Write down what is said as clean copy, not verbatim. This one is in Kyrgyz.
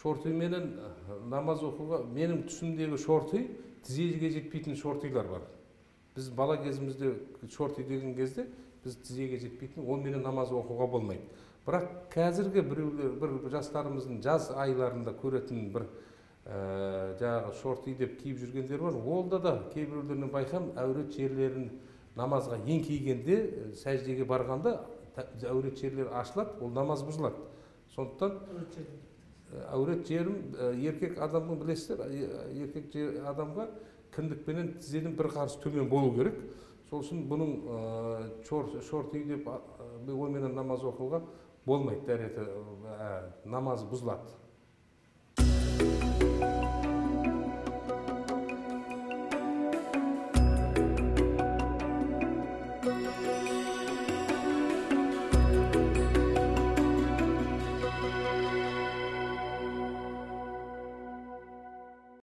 шорты менен намаз окууга менин түсүмдөгү шорты тизеге жетпейтин шортыйлар бар. Biz bala кезимизде шорты деген кезде biz тизеге жетпейтин, ол менен намаз окууга болмойт. Бирок қазіргі bir жастарымыздын жаз айларында көретін bir жаңағы шорты деп кийип жүргендер бар. Олда да кээ бирлеринен байкам әурет жерлерин намазга эң кийгенде, сәждеге барганда әурет жерлер ашылат, ол намаз бузулат. Сондықтан әурет жерим еркек адамдын билесиздер, еркек адамга кіндік менен тізенин бір қарыс төмен болу керек. Сол үшін бұның шорты деп ой менен намаз окууга болмайт, дәреті намаз бузулат.